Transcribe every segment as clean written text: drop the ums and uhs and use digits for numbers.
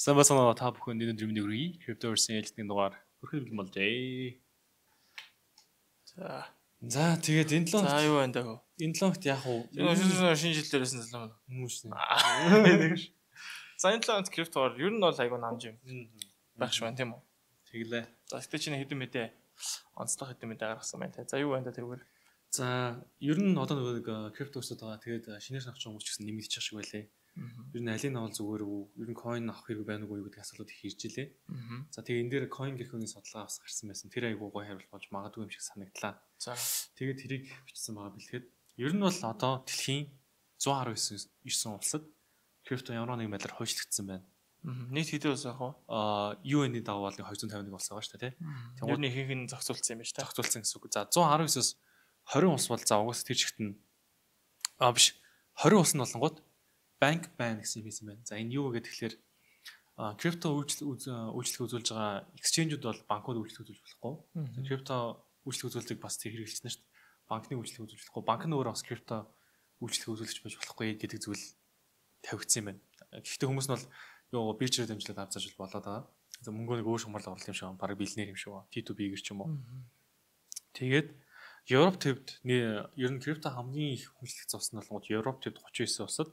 Самбасана та бүхэн өнөөдөр миний хүргэе. Cryptoverse хэлтний дугаар хүрхэл болжээ. За тэгээд энэ 7 За юу байна даа. Энэ 7-т яг уу шинэ жил дээрээс нь залуу хүмүүс нэ. За энэ 7-т криптоор ер нь бол айгүй намж юм. Байх шүү тийм үү? Тэглээ. За гэтээ чинь хэдэн мэдээ онцлог хэдэн мэдээ гаргасан байна те. За юу байна даа тэрүүгээр. За ер нь одоо нэг криптоусд байгаа. Тэгээд шинээр авч байгаа хүмүүс ч гэсэн нэмэгдэж байгаа шиг байлээ. Ер нь алийг авал зүгээр үү? Ер нь coin авах хэрэг байна уу гэдэг асуулт их ирж илээ. За тэгээ энэ дээр coin гэх хүний судалгаа авсан гарсан байсан. Тэр айгуу гоё хариулт болж магадгүй юм шиг санагдлаа. За тэгээд тэрийг бичсэн байгаа бэлгээд ер нь бол одоо дэлхийн 119 улсад крипто ямар нэгэн байдлаар хойшлогдсон байна. Нийт хэдэн улс яг вэ? UN-ийн дагуу бол 251 улс байгаа шүү дээ, тий. Тэгвэл нэг ихэнх нь зохицуулсан юм байна шүү дээ. Зохицуулсан гэсэн үг. За 119-оос 20 улс бол за угаас тэр чигт нь биш 20 улс нь болонгууд банк байн гэсэн юм байсан байна. За энэ юу вэ гэхээр крипто үйлчлэг үзүүлж байгаа exchange-ууд бол банкуд үйлчлэг үзүүлж болохгүй. Крипто үйлчлэг үзүүлдэг бас тэр хэрэгжилсэн шүү дээ. Банкны үйлчлэг үзүүлж болохгүй. Банк нь өөрөө бас крипто үйлчлэг үзүүлж байж болохгүй гэдэг зүйл тавигдсан юм байна. Гэхдээ хүмүүс нь бол юу биржээр дамжуулаад авч зааж болоод байгаа. За мөнгөө нэг өөр шумаар орлоо юм шиг байна. Бараг биллионер юм шиг байна. T2B-гэр ч юм уу. Тэгээд Европ төвд ер нь крипто хамгийн их хүншлэгдсэн улс нь болгоод Европ төвд 39 улсад,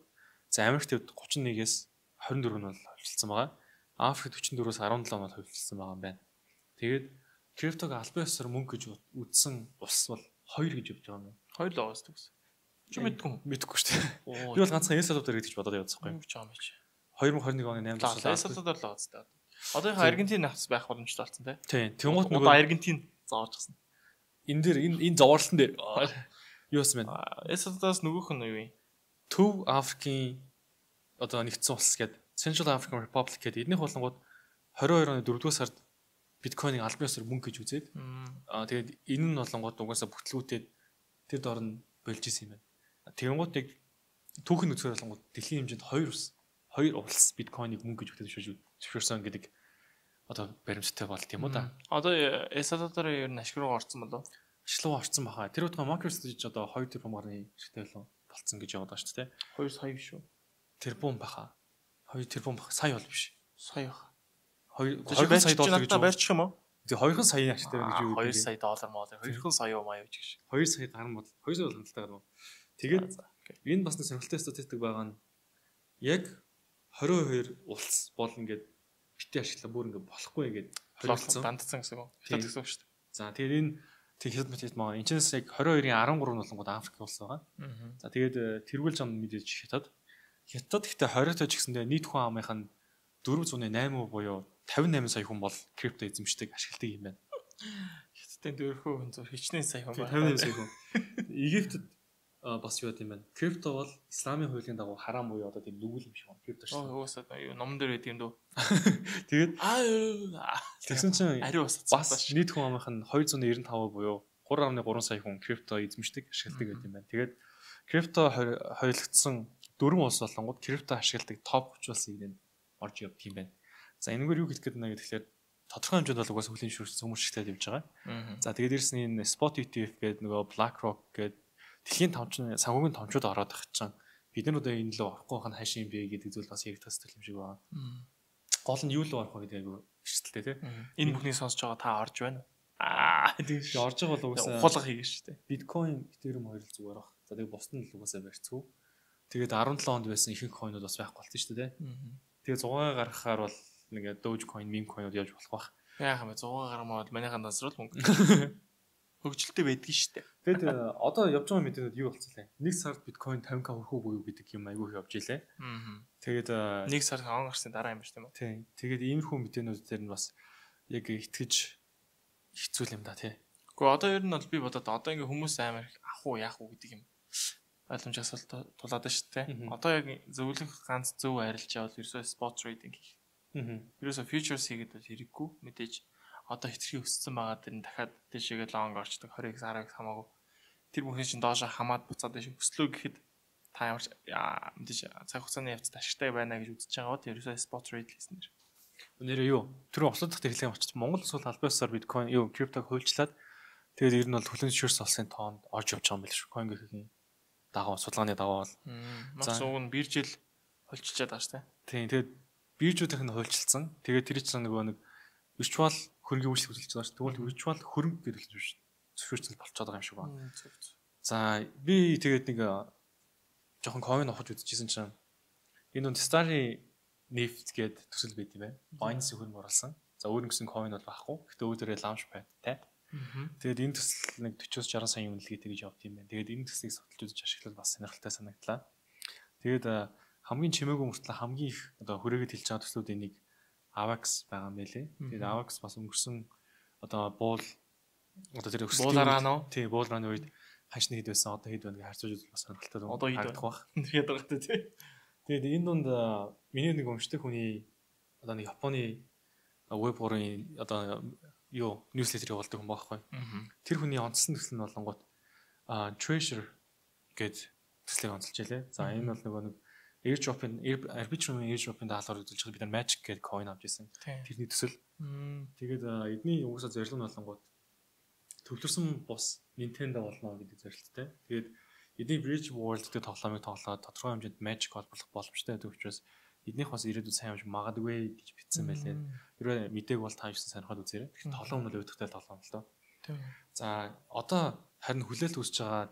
за Америк төвд 31-ээс 24 нь бол хувьчилсан байгаа. Африкт 44-өөс 17 нь бол хувьчилсан байгаа юм байна. Тэгээд криптог албан ёсоор мөнгө гэж үзсэн улс бол 2 гэж явж байгаа юм. 2 л байгаа гэсэн. Чи мэдгүй шүү дээ. Би бол ганцхан El Salvador гэж бодоод явуулсан байхгүй. Юу ч байгаа юм чи. 2021 оны 8 сард El Salvador л байгаа зү. Одоо яг Аргентин авц байх боломжтой болсон тий. Тийм. Тэнгуут нөгөө Аргентин зоожчихсан. Энэ дээр энэ зовоорлон дээр юу юм бэ? El Salvador-с нөгөөх нь юу юм? Төв Африкийн одоо нэгдсэн улс гэдэг Central African Republic гэдэг эднийх болонгууд 22 оны 4-р сард биткойныг албан ёсоор мөнгө гэж үзээд тэгээд энэ нь болонгууд угаасаа бүтлгүүтээд тэр дор нь болж исэн юм байна. Тэгэнгუთ яг түүхэн үзгээр болонгууд дэлхийн хэмжээнд 2 улс биткойныг мөнгө гэж зөвшөөрсөн гэдэг одоо баримттай болт юм уу да. Одоо El Salvador-ын ер нь ашиг руу орсон болов? Ашиг руу орсон баха. Тэр утга MicroStrategy одоо 2 тэрбум гаруй ашигтай болцсон гэж яваад байгаа шүү дээ. 2 сая биш үү? Тэрбум баха. 2 тэрбум баха. Сая бол биш. Сая баха. 2 сая доллар гэж барьчих юм уу? Тэгээ 2 саяын ашигтай байна гэж юу гэдэг. 2 сая доллар маа. 2 сая юу маа явж гэж. 2 сая гарсан бол 2 сая бол хангалттай гарна. Тэгээд энэ бас нэг сонирхолтой статистик байгаа нь яг 22 улс бол ингээд битээ ашиглаа бүр ингээд болохгүй ингээд холилдсон дандсан гэсэн үг. Хятад гэсэн үг шүү дээ. За тэгээд энэ Хятад мэт маа энэ ч яг 22-ийн 13 болонгууд Африк улс байгаа. За тэгээд тэргүүл зам мэдээж Хятад гэхдээ 20-т ч гэсэндээ нийт хүн амынх нь 408 буюу 58 сая хүн бол крипто эзэмшдэг ашигладаг юм байна. Хятадын дөрвөө хүн зөв хичнээн сая хүн байна. 58 сая хүн. Египтэд бас юу гэдэг юм бэ? Крипто бол исламын хуулийн дагуу харам буюу одоо тийм нүгэл юм шиг байна. Крипто шүү. Уусаа юу номон дээр байдаг юм дөө. Тэгээд тэгсэн чинь ари бас нийт хүн амынх нь 295 буюу 3.3 сая хүн крипто эзэмшдэг ашигладаг гэдэг юм байна. Тэгээд крипто хойлогдсон 4 улс болонгууд крипто ашигладаг топ 30 улсын нэгэнд орж явдаг юм байна. За энэгээр юу хэлэх гээд байна гэхээр тодорхой хэмжээнд бол угаасаа хөлийн шүүрсэн хүмүүс шигтэй явж байгаа. За тэгээд дээрс нь энэ Spot ETF гэдэг нөгөө BlackRock гэдэг дэлхийн санхүүгийн томчууд ороод байгаа чинь бид нар одоо энэ лөө орохгүй байх нь хайшин юм бэ гэдэг зүйл бас яригдах хэрэгтэй юм шиг байна. Гол нь юу лөө орох вэ гэдэг айгу эрсдэлтэй тий. Энэ бүхний сонсож байгаа та орж байна. Тэгээд орж байгаа бол угаасаа ухаалга хийгэн шүү дээ. Bitcoin, Ethereum хоёр л зүгээр баг. За тэгээд бусд нь л угаасаа барьцгүй. Тэгээд 17 онд байсан ихэнх coin-ууд бас байхгүй болсон шүү дээ. Тэгээд 100 гаргахаар бол ингээд Dogecoin, meme coin-ууд явж болох байх. Яах юм бэ? 100 гармаа бол манайхаа насрал мөнгө. Хөгжилтэй байдгийг шүү дээ. Тэгэд одоо явж байгаа мэдээнүүд юу болцсон лээ? Нэг сард биткойн 50k хүрэх үгүй юу гэдэг юм айгүй их явж илээ. Тэгээд нэг сар он гарсны дараа юм байна тийм. Тэгээд иймэрхүү мэдээнүүд дээр нь бас яг итгэж хэцүү юм да тий. Гэхдээ одоо ер нь бол би бодоод одоо ингээ хүмүүс амар ах уу яах уу гэдэг юм ойлгомж асуулт тулаад байна шүү дээ. Одоо яг зөвлөх ганц зөв арилжаа бол ерөөсөө spot trading хийх. Ерөөсөө futures хийгээд бол хэрэггүй мэдээж одоо хэтэрхий өссөн байгаа дэр нь дахиад тийшээгээ long орчдөг 20x 10x хамаагүй тэр бүхэн чинь доошо хамаад буцаад тийш өслөө гэхэд та ямар мэдээж цаг хугацааны явцад ашигтай байна гэж үзэж байгаа бол ерөөсөө spot trade хийсэн нэр. Өнөөдөр юу тэр ослоо дахь хэлээ очиж Монгол улс бол албан ёсоор биткойн юу криптог хуульчлаад тэгээд ер нь бол хүлэн зөвшөөрсөн улсын тоонд орж явж байгаа юм байл шүү. Coin гэхийн дагуу судалгааны дагуу бол маш уг нь биржил холчичаад байгаа шүү дээ. Тийм тэгээд биржүүдийнх нь хуульчилсан. Тэгээд тэр чинь нөгөө нэг virtual хөрөнгөний үйлчлэг үзүүлж байгаа шүү. Тэгвэл virtual хөрөнгө гэдэг л биш. Зөвшөөрөл болчиход байгаа юм шиг байна. За би тэгээд нэг жоохон coin авах үзчихсэн чинь энэ нь Starry Neft гэдэг төсөл байд юм байна. Binance хөрөнгө оруулсан. За өөр нэгэн coin бол байхгүй. Гэхдээ өөдөрөө launchpad тай. Тэгээд энэ төсөл нэг 40-60 сая үнэлгээтэй гэж явд юм байна. Тэгээд энэ төслийг судалж үзэж ашиглал бас сонирхолтой санагдлаа. Тэгээд хамгийн чимээгүй мөртлөө хамгийн их одоо хүрээгээд хэлж байгаа төслүүдийн нэг AVAX байгаа юм байлээ. Тэгээд AVAX бас өнгөрсөн одоо буул одоо тэр буулаараа нөө. Тий, буулрааны үед ханшны хэд байсан одоо хэд байна гэж харьцуулж үзвэл бас сонирхолтой байна. Одоо хэд байх. Тэгээд байгаа тий. Тэгээд энэ дунд миний нэг өмчтэй хүний одоо нэг Японы веб хорын одоо юу ньюслетер явуулдаг хүн байхгүй. Тэр хүний онцлсан төсөл нь болонгууд Treasure гэдэг төслийг онцолж ялээ. За энэ бол нөгөө нэг Airdrop-ын Arbitrum Airdrop-ын даалгавар үзүүлж байгаа бид нар Magic гэдэг coin авч ирсэн. Тэрний төсөл. Тэгээд эдний угсаа зорилго нь болонгууд төвлөрсөн бус Nintendo болно гэдэг зорилттой. Тэгээд эдний Bridge World гэдэг тоглоомыг тоглоод тодорхой хэмжээнд Magic олборлох боломжтой гэдэг учраас эднийх бас ирээдүйд сайн хэмж магадгүй гэж бичсэн байлээ. Хэрвээ мэдээг бол та юусэн сонирхоод үзээрэй. Тэгэхээр тоглоом нь өөдөгтэй тоглоом л доо. За одоо харин хүлээлт үүсэж байгаа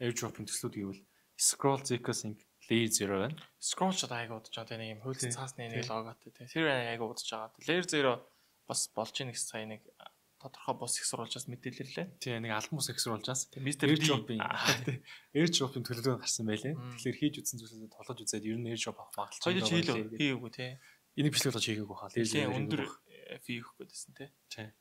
Airdrop-ын төслүүд гэвэл Scroll Zika Sync Layer 0 байна. Scroll ч айгаа удаж байгаа тийм юм хөлт цаасны нэг логотой тийм. Тэр айгаа удаж байгаа. Layer 0 бас болж ийн гэсэн сая нэг тодорхой бос их сурвалжаас мэдээлэлээ. Тийм нэг албан бус их сурвалжаас Airdrop-ын төлөвлөгөө гарсан байлээ. Тэгэхээр хийж үзсэн зүйлсээ тоглож үзээд ер нь Airdrop авах магадлал байна. Хоёул хийгээгүй тийм. Энийг бичлэг болж хийгээгүй хаа. Layer өндөр фи өгөх гэдсэн тийм.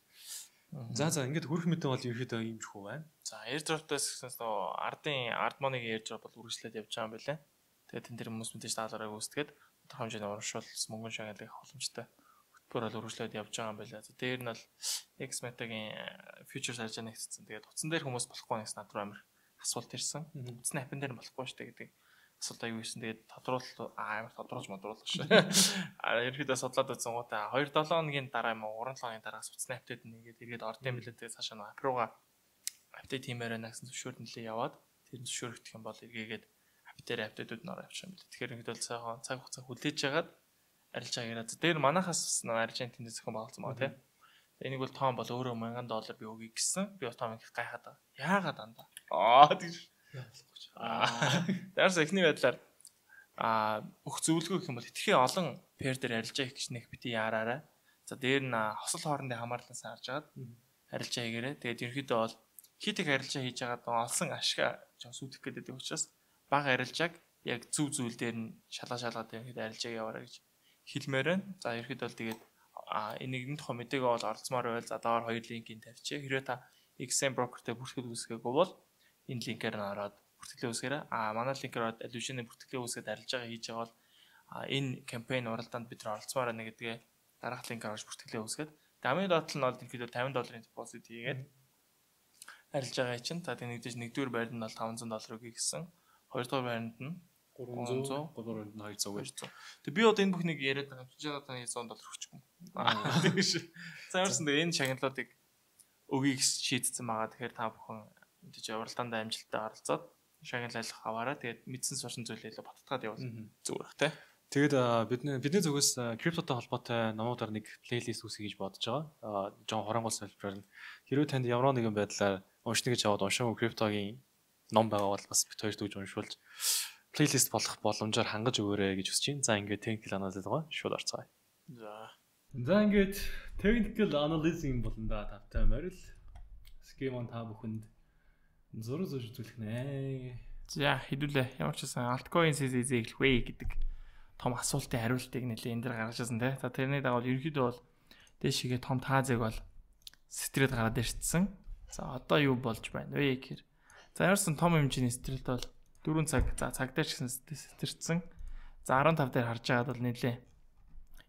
За ингээд хүрх мэдээ бол ерөөхдөө юм шиг байна. За airdrop-таас гэснээр нөө ард моныг airdrop бол үргэлжлээд явж байгаа юм байна. Тэгээд тэн дээр хүмүүс мэдээж даалгараа гүйцэтгээд тодорхой хэмжээний урамшуул мөнгөн шагналыг хавламжтай хөтөлбөр бол үргэлжлээд явж байгаа юм байна. За дээр нь бол X-Meta-гийн futures харьцаа нэгтсэн. Тэгээд утсан дээр хүмүүс болохгүй нэгс над руу амир асуулт ирсэн. Утасны апп дээр нь болохгүй шүү дээ гэдэг асуулт аягүй ирсэн. Тэгээд амар тодруулж модруулах шүү. Ерөөдөө судлаад үзсэн гутаа 2-7 хоногийн дараа юм уу 3-7 хоногийн дараа утасны апдейт нэгээд эргээд орд юм билээ. Тэгээд цаашаа апп руугаа апдейт хиймээр байна гэсэн зөвшөөрөл нэлээ яваад тэр зөвшөөрөгдөх юм бол эргээгээд апп дээр апдейтүүд нь ороо явчих юм билээ. Тэгэхээр ингээд бол цаг хугацаа хүлээж жагаад арилж байгаа яриа. Тэр манахаас Аржентинд зохион байгуулсан байгаа тийм. Энийг бол том бол өөрөө $1000 би өгье гэсэн. Би том их гайхаад байгаа. Яагаад дандаа? Тэгж. Дээрс эхний байдлаар өх зөвлөгөө гэх юм бол итгэхээ олон пэр дээр арилжаа хийх гэж нэг бити яараарай. За дээр нь хосол хоорондын хамаарлаас харж агаад арилжаа хийгээрэй. Тэгээд ерөнхийдөө бол хит их арилжаа хийж агаад олсон ашиг жоо сүдэх гэдэг учраас бага арилжааг яг зүв зүйл дээр нь шалгаад ерөнхийдөө арилжааг яваарай гэж хэлмээр байна. За ерөнхийдөө бол тэгээд энийг нэг том мэдээгөө бол оролцмоор байвал за доор хоёр линкийг тавьчих. Хэрвээ та XM broker-тэй бүртгэл үүсгээгүй бол энэ линкээр нь ороод бүртгэлээ үүсгээрэй. Манай линкээр ороод алюшны бүртгэлээ үүсгээд арилжаагаа хийж байгаа бол энэ кампайн уралдаанд бид нар оролцмоор байна гэдгээ дараах линкээр орж бүртгэлээ үүсгээд дамын доотлол нь бол ерөнхийдөө $50 депозит хийгээд арилжаагаа чинь. За тэгээд нэгдүгээр байранд нь бол $500 өгье гэсэн. Хоёрдугаар байранд нь 300, гуравдугаар нь 200. Тэг би одоо энэ бүхнийг яриад байгаа юм. $100 өгчихгүй. Тэгэж. За ямарсан дээр энэ шагналуудыг өгье гэж шийдсэн байгаа. Тэгэхээр та бүхэн мэдээж уралдаанд амжилттай оролцоод шагналалах аваараа тэгээд мэдсэн сурсан зүйлээ баттгаад явуул зүгээр бах тий. Тэгээд бидний зүгээс криптотой холбоотой номуудаар нэг плейлист үүсгэж гэж бодож байгаа. Жон хоронгол солилцоор нь хэрвээ танд ямар нэгэн байдлаар уншна гэж аваад уншаагүй криптогийн ном байгаа бол бас бит хоёр дүүж уншуулж плейлист болох боломжоор хангаж өгөөрэй гэж хүсэж байна. За ингээд technical analysis байгаа шууд орцгаая. За ингээд technical analysis болно да тавтай морил схемон та бүхэнд зураг зурж үзүүлэх нэ. За хэдүүлээ ямар ч байсан altcoin CZ эхлэх вэ гэдэг том асуултын хариултыг нэлээ энэ дэр гаргаж ирсэн тий. За тэрний дагуу ерөнхийдөө бол дээшгээ том таазыг бол стрит гараад ирсэн. За одоо юу болж байна вэ гэхээр за ямарсан том хэмжээний стрит бол 4 цаг за цаг дээр ч гэсэн стритсэн. За 15 дээр харж байгаад бол нэлээ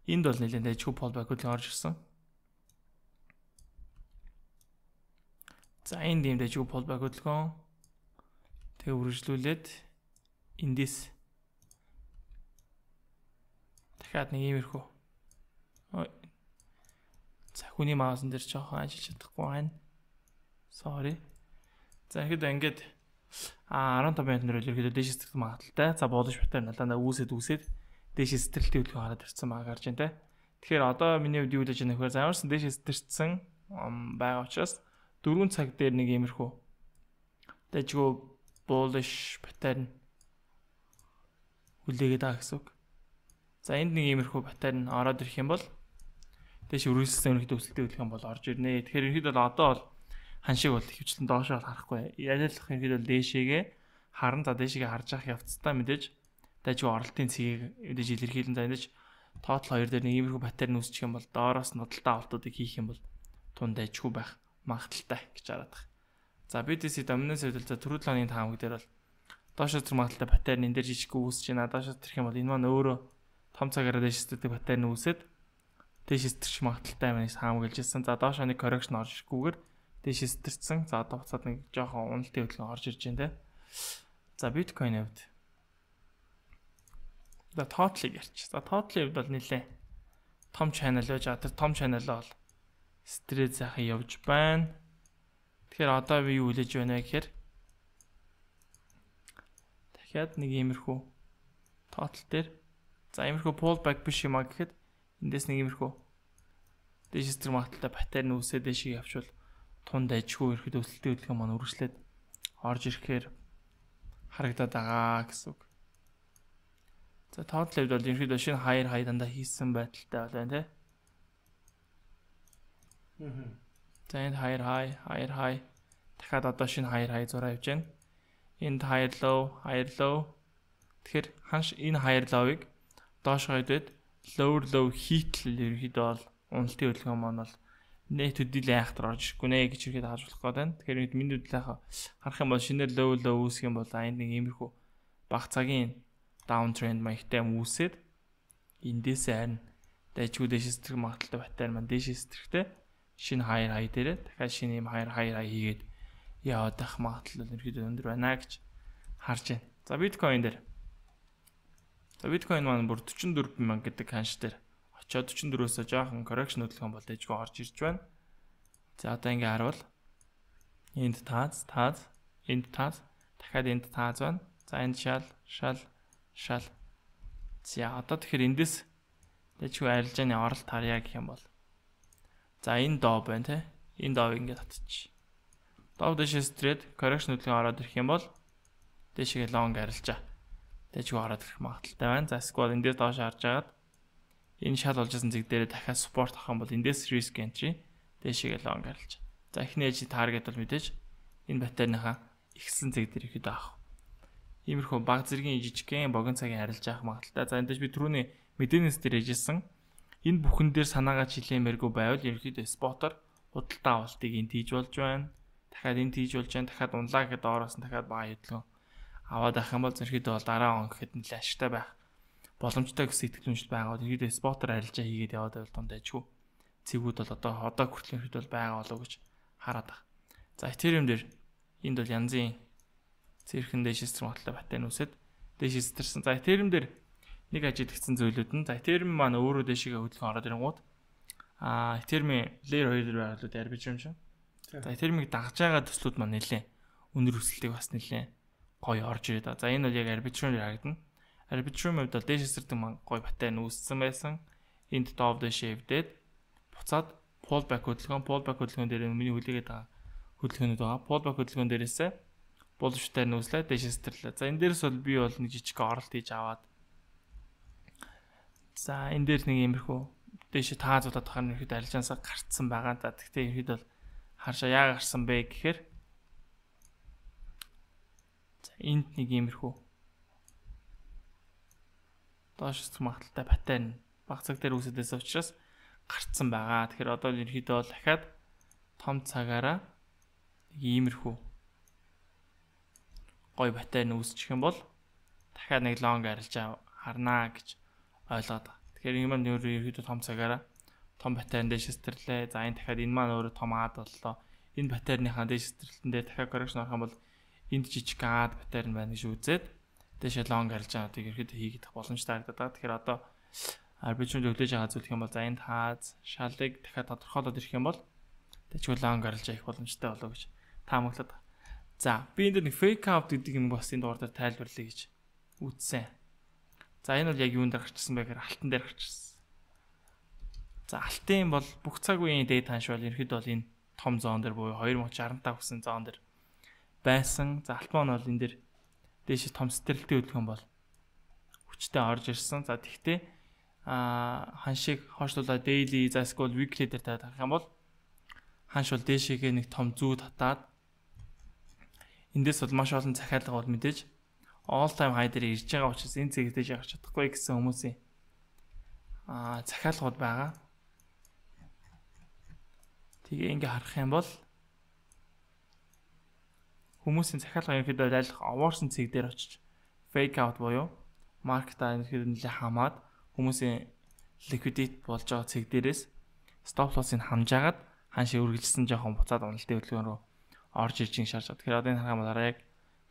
энд бол нэлээд дэжгүй pullback хөдөлгөөн орж ирсэн. За энд ийм дэжгүй pullback хөдөлгөөн тэг үргэлжлүүлээд эндээс дахиад нэг иймэрхүү. За хүний маусан дээр жоохон ажиллаж чадахгүй байна. Sorry. За ингээд 15 минут нөрөөл ерөөдөө дээшээс магадaltaй. За буудаж батар налаа үүсээд дээш стрэлтийн хөдөлгөөн хараад ирсэн баг гарч байна те. Тэгэхээр одоо миний хувьд юу гэж байна гэхээр замарсан дээш стрэлтсэн байгаа учраас 4 цаг дээр нэг иймэрхүү дэжгөө bullish pattern үлээгээд байгаа гэсэн үг. За энд нэг иймэрхүү pattern ороод ирэх юм бол дээш үргэлжлсэн өнөختөө өсөлттэй хөдөлгөөн бол орж ирнэ. Тэгэхээр ерөнхийдөө бол одоо бол ханшиг бол хөвчлэн доошоо харахгүй. Ялах ерөнхийдөө дээшээгээ харан за дээшээгээ харж явах явцдаа мэдээж дайжгүй оролтын цэгийг мэдээж илэрхийлэн за мэдээж тоотл 2 дээр нэг иймэрхүү паттерн үүсчих юм бол доороос нодалтай авалтуудыг хийх юм бол тун дайжгүй байх магадaltaй гэж хараад байна. За BTC доминанс хэвдэл за түрүү 7 оны таамаг дээр бол доошоо зэрэг магадaltaй паттерн энэ дээр жижиг үүсэж байна. Доошоо тэрх юм бол энэ маань өөрөө том цагаараа дээштэй паттерн үүсээд дээш сэтэрч магадaltaй маань таамаглажсэн. За доошоо нэг correction орж ирэхгүйгээр дээш сэтэрсэн. За одоо буцаад нэг жоохон уналтын хөдөлгөөн орж ирж байна те. За биткойн хувьд. За тоотлыг ярьчих. За тоотлын хувьд бол нэлээ том channel байж байгаа. Тэр том channel-аа бол стрит сайхан явж байна. Тэгэхээр одоо би юу хэлэж байна вэ гэхээр дахиад нэг иймэрхүү total дээр за иймэрхүү pullback биш юм а гэхэд эндээс нэг иймэрхүү дээш стрит магадaltaй паттерн үүсээд дээшийг явчвал тун дайжгүй ирэхэд өсөлтийн хөдөлгөөн маань үргэлжлээд орж ирэхээр харагдаад байгаа гэсэн үг. За total level бол ерөнхийдөө шинэ high дандаа хийсэн байдалтай байна тий. За энэ high дахиад одоо шинэ high зураа явж байна. Энд higher low. Тэгэхээр ханш энэ higher low-ыг доош хойдод low хийтэл ерөнхийдөө бол уналтын хөдөлгөөн маань бол net төдийлэн айхтар орж ирэхгүй нэ гэж ихэд хааж болох гэдэг. Тэгэхээр миний хөдөлгөөн харах юм бол шинээр low үүсэх юм бол энд нэг иймэрхүү бага цагийн downtrend маягтай үүсээд эндээс харин дайжгүй дээш стрэх магадaltaй паттерн маань дээш стрехтэй шинэ high дээрээ дахиад шинэ юм high хийгээд яваад ах магадлал ерөөдөө өндөр байна гэж харж байна. За биткойн дээр. За биткойн маань бүр 44,000 гэдэг ханш дээр очоод 44-өөсөө жоохон correction хөдөлгөөн бол дайжгүй орж ирж байна. За одоо ингээ харуул. Энд тааз, энд тааз, дахиад энд тааз байна. За энд шал. За одоо тэгэхээр эндээс дайжгүй арилжааны оролт харьяа гэх юм бол. За энэ доо байна те. Энэ доог ингээ татчих. Доо дэше стрит correction хөдөлгөөн ороод ирэх юм бол дэшегээ long арилжаа. Дайжгүй ороод ирэх магадaltaй байна. За эсвэл эндээс доош харж агаад энэ шал болжсэн зэг дээрээ дахиад support авах юм бол эндээс risk entry дэшегээ long арилжаа. За эхний edge target бол мэдээж энэ паттерныхаа ихсэн зэг дээр ихэд авах. Иймэрхүү баг зэргийн жижигхэн богино цагийн арилж авах магадaltaй. За эндээс би түрүүний мэдээнээс дээр ээжсэн. Энэ бүхэн дээр санаагаа чилээмээргүй байвал ерөнхийдөө спотор худалдаа авалтыг энд хийж болж байна. Дахиад энд хийж болж байна. Дахиад унлаа гэхэд доороос нь дахиад бага хөдөлгөөн аваад авах юм бол ерөнхийдөө бол дараа он гэхэд нэлээд ашигтай байх боломжтой гэсэн итгэл үнэмшил байгаа. Ерөнхийдөө спотор арилжаа хийгээд яваад байвал том дайжгүй. Цэгүүд бол одоо хүртэл ерөнхийдөө бол байгаа болов гэж хараад байна. За Ethereum дээр энд бол янзын цэрхэн дээш стрим баталтай паттерн үсэд дээш стрсэн. За Ethereum дээр нэг ажиглагдсан зүйлүүд нь за Ethereum маань өөрөө дээшгээ хөдөлгөөн ороод ирэнгууд Ethereum layer 2 дээр байгаа л Arbitrum шүү. За Ethereum-ыг дагж байгаа төслүүд маань нэлээд өндөр өсөлтийг бас нэлээд гоё орж ирээд байгаа. За энэ бол яг Arbitrum дээр харагдана. Arbitrum хувьд бол дээш стрдэг маань гоё паттерн үүссэн байсан. Энд дов дээшээ хөвдөөд буцаад pullback хөдөлгөөн дээр миний хүлээгээд байгаа хөдөлгөөнүүд байгаа. Pullback хөдөлгөөн дээрээсээ булштай нүүслээ дээш стэрлээ. За энэ дээрээс бол би бол нэг жижиг оролт хийж аваад. За энэ дээр нэг иймэрхүү дээш таазуудад харна ихэд арилжаансаа гарцсан байгаа. За тэгтээ ихэд бол харшаа яа гарсан бэ гэхээр за энд нэг иймэрхүү доош магадaltaй паттерн баг цаг дээр үүсэдээс учраас гарцсан байгаа. Тэгэхээр одоо ерөнхийдөө бол дахиад том цагаараа иймэрхүү гоё паттерн үүсчих юм бол дахиад нэг long арилж харнаа гэж ойлгоод байгаа. Тэгэхээр энэ маань ерөнхийдөө том цагаараа том паттерн дээш стэрлээ. За энэ дахиад энэ маань өөрөө том аад боллоо. Энэ паттерныхаа дээш стерлэндээ дахиад correction орох юм бол энд жижиг аад паттерн байна гэж үзээд дээш long арилж байгааг ерөнхийдөө хийгдэх боломжтой харагдаад байгаа. Тэгэхээр одоо Arbitrum зөвлөж байгаа зүйл юм бол за энд хааз шалыг дахиад тодорхойлоод ирэх юм бол дэжгүй long арилж авах боломжтой болов гэж таамаглаад байна. За би энд нэг fake out гэдэг юм бас энэ дугаар дээр тайлбарлая гэж үзсэн. За энэ бол яг юунд дээр гарчсан бэ гэхээр алтан дээр гарчсан. За алтын бол бүх цаг үеийн дээд ханш бол ерөөд бол энэ том зоон дээр буюу 2065 гэсэн зоон дээр байсан. За альтман бол энэ дээр дээш том стрэлтийн хөдөлгөөн бол хүчтэй орж ирсэн. За тэгтээ ханшийг хойшлуулаад daily за эсвэл weekly дээр тавих юм бол ханш бол дээшээгээ нэг том зүү татаад эндээс бол маш олон захиалга бол мэдээж all time high дээр ирж байгаа учраас энэ цэг дэж гарч чадахгүй гэсэн хүмүүсийн захиалгууд байгаа. Тэгээ ингээ харах юм бол хүмүүсийн захиалга ерөнхийдөө айлх овоорсон цэг дээр очиж fake out буюу маркетаа ерөнхийдөө нэлээд хамаад хүмүүсийн liquidate болж байгаа цэг дээрээс stop loss-ыг хамжаагаад ханшийг үргэлжлсэн жоохон буцаад уналтын хөдөлгөөн рүү орж ирж ин шаарч. Тэгэхээр одоо энэ харах юм бол яг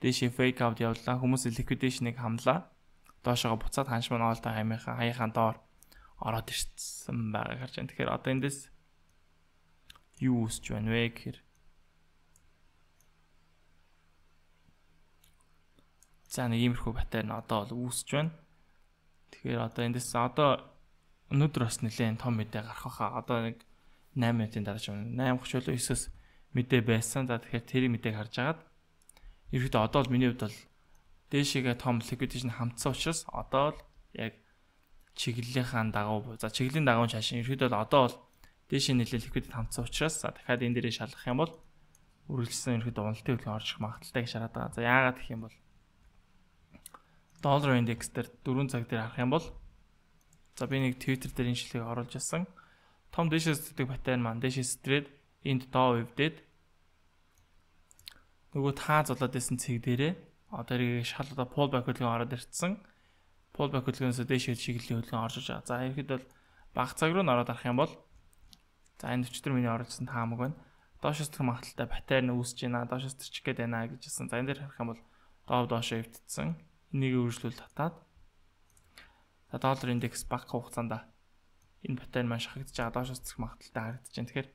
дээшээ fake out явуулаа, хүмүүсийн liquidation-ыг хамлаа. Доошоо буцаад ханш маань all time хаяхаан доор ороод ирсэн байгааг харж байна. Тэгэхээр одоо эндээс юу үсэж байна вэ гэхээр за нэг иймэрхүү паттерн одоо бол үүсэж байна. Тэгэхээр одоо эндээс одоо өнөөдөр бас нэлээд том мэдээ гарах байхаа. Одоо нэг 8 минутын дараа ч 8:30 9-оос мэдээ байсан. За тэгэхээр тэр мэдээг харж агаад ерөөдөө одоо л миний хувьд бол дээшээгээ том liquidation хамтсан учраас одоо л яг чиглэлийнхаа дагуу за чиглэлийн дагуу шашин ерөөдөө л одоо бол дээшээ нэлээд liquidity хамтсан учраас за дахиад энэ дээрээ шалгах юм бол үргэлжлсэн ерөөдөө уналтын хөдөлгөөн орж ирэх магадaltaй гэж шараад байгаа. За яагаад гэх юм бол доллар индекс дээр 4 цаг дээр харах юм бол за би нэг Twitter дээр энэ шилхийг оруулж ирсэн. Том дээшээс зэдэг паттерн маань дээшээс трейд энд доо өвдөд нөгөө таа золоод байсан цэг дээрээ одоо эргээ шал одоо pullback хөдөлгөөн ороод ирсэн. Pullback хөдөлгөөнөөс дээшээ чиглэлийн хөдөлгөөн орж иж байгаа. За ихэд бол баг цаг руу н ороод арах юм бол за энэ 44 миний оруулсан таамаг байна. Доошоос тэр магадaltaй паттерн үүсэж байна. Доошоос тэрчих гээд байна гэжсэн. За энэ дээр харах юм бол доошоо эвдсэн. Энийг өөрчлөл татаад за доллар индекс баг хугацаанд энэ паттерн маань шахагдж байгаа доошоос зэрэг магадaltaй харагдаж байна. Тэгэхээр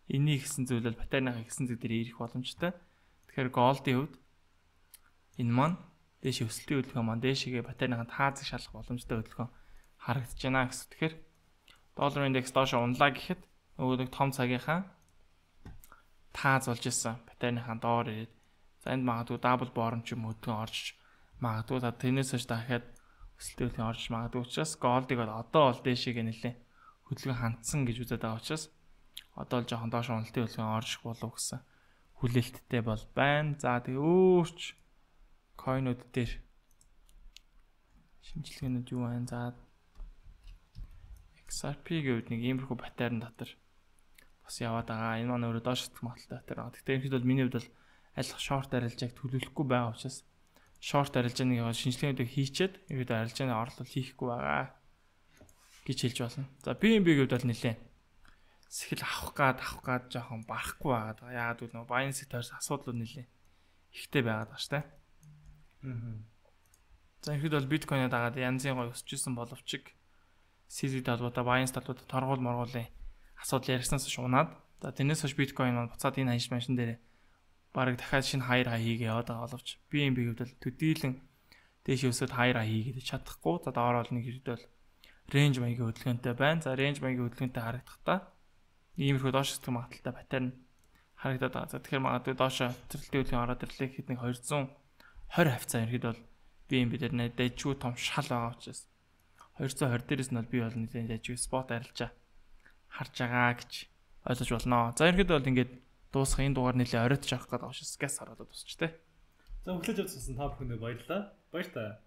энийг хийсэн зүйл бол паттерныхаа хийсэн зүйл дээр ирэх боломжтой. Тэгэхээр голдын хувьд энэ маань дээш өсөлтийн хөдөлгөөн маань дээшээгээ паттерныхаа таазыг шалгах боломжтой хөдөлгөөн харагдаж байна гэсэн. Тэгэхээр доллар индекс доошоо унлаа гэхэд нөгөө нэг том цагийнхаа тааз болж исэн паттерныхаа доор ирээд за энд магадгүй дабл борон ч юм хөдөлгөөн орж магадгүй та тэрнээс хойш дахиад өсөлтийн хөдөлгөөн орж магадгүй учраас голдыг бол одоо бол дээшээгээ нэлээ хөдөлгөөн хандсан гэж үзээд байгаа учраас одоо л жоохон доош уналтын хөдөлгөөн орж болов гэсэн хүлээлттэй бол байна. За тэгээ өөрч койнууд дээр шинжилгээнүүд юу байна? За XRP-ийн хувьд нэг иймэрхүү паттерн дотор бас яваад байгаа. Энэ маань өөрөө доош сэтгэх магадaltaй паттерн. Гэхдээ ерөнхийдөө бол миний хувьд бол айлх шорт арилжааг төлөвлөхгүй байгаа учраас шорт арилжааны шинжилгээнүүдийг хийчихэд ерөнхийдөө арилжааны орлол хийхгүй байгаа гэж хэлж болно. За BNB-ийн хувьд бол нэлээд сэхэл авах гад жоохон барахгүй байгаа. Яагаад гэвэл нөгөө Binance тойрс асуудлууд нэлээд ихтэй байгаад байгаа шүү дээ. За ерөнхийдөө бол биткойныг дагаад янзын гой өсчихсэн боловч CZ талбараа Binance талбараа торгуул моргуулын асуудал ярьснаас унаад за тэрнээс хойш биткойн маань буцаад энэ ханш машин дээр бараг дахиад шинэ хайр хай хийгээ яваад байгаа боловч BNB хувьд бол төдийлөн дээш өсөд хайр хай хийгээд чадахгүй. За доороо л нэг хэрэдэл range маягийн хөдөлгөөнтэй байна. За range маягийн хөдөлгөөнтэй харагдахтаа иймэрхүү доош сэтгэх магадaltaй паттерн харагдаад байгаа. За тэгэхээр магадгүй доошо цэцэрлэгтэй хөдөлгөөн ороод ирлээ гэхэд нэг 220 хавцаа ерхэд бол BNB дээр дэжгүй том шал байгаа учраас 220 дээрээс нь бол би бол нэгэн дэжгүй спот арилжаа харж байгаа гэж ойлгож болно. За ерхэд бол ингээд дуусах энэ дугаар нэлээ оройтж авах гэдэг учраас газ хараад дуусч тээ. За өглөөж авсан та бүхэнд баярлалаа. Баяр таа.